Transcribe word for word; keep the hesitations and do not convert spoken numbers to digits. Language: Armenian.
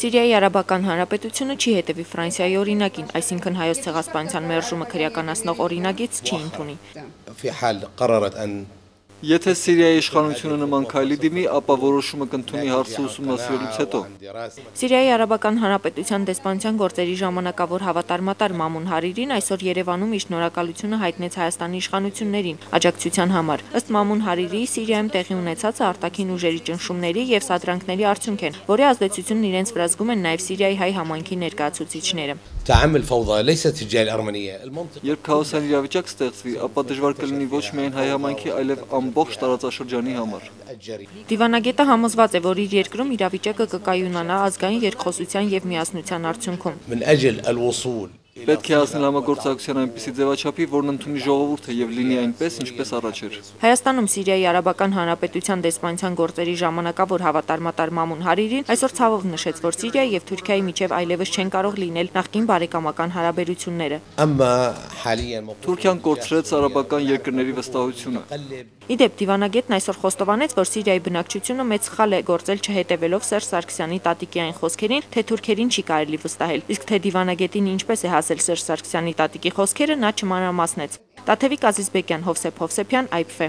Սիրիայի Արաբական Հանրապետությունը չի հետևի Ֆրանսիայի օրինակին, այսինքն հայոց ցեղասպանության մերժումը քրեականացնող օրինագիծ չի ընդունի։ Եթե Սիրիայի իշխանությունը նման քայլի դիմի, ապա որոշումը կընդունի հարցը ուսումնասիրելուց հետո։ Սիրիայի Արաբական Հանրապետության դեսպանության գործերի ժամանակավոր հավատարմատար Մամուն Հարիրին այսօր Երևանում իր շնորհակալությունը հայտնեց Հայաստանի իշխանություններին աջակցության համար։ Ըստ Մամուն Հարիրիի, Սիրիայում տեղի ունեցածը արտաքին ուժերի ճնշումների եւ սադրանքների արդյունք են, որի ազդեցությունն իրենց վրա զգում են նաեւ Սիրիայի հայ համայնքի ներկայացուցիչները։ Երբ քաոսային իրավիճակ ստեղծվի, ապա դժվար կլինի ոչ միայն հայ համայնքի, այլև ամբողջ տարածաշրջանի համար։ Դիվանագետը համոզված է, որ իր երկրում իրավիճակը կկայունանա ազգային երկխոսության եւ միասնության արդյունքում։ Պետք է հասնել համագործակցության այնպիսի ձևաչափի, որն ընդունի ժողովուրդը եւ լինի այնպես, ինչպես առաջ էր։ Հայաստանում Սիրիայի Արաբական Հանրապետության դեսպանության գործերի ժամանակավոր հավատարմատար Մամուն Հարիրին այսօր ցավով նշեց, որ Սիրիայի եւ Թուրքիայի միջև այլևս չեն կարող լինել նախկին բարեկամական հարաբերությունները։ Թուրքիան կորցրեց արաբական երկրների վստահությունը։ Իդեպ դիվանագետն այսօր խոստովանեց, որ Սիրիայի բնակչությունը մեծ սխալ է գործել չհետևելով Սերժ Սարգսյանի տատիկի այն խոսքերին, թե թուրքերին չի կարելի վստահել, իսկ թե դիվանագետին ինչպես է հասել Սերժ Սարգսյանի տատիկի խոսքերը, նա չմանրամասնեց։ Տաթևիկ Ազիզբեկյան, Հովսեփ Հովսեփյան, Այփ Ֆ։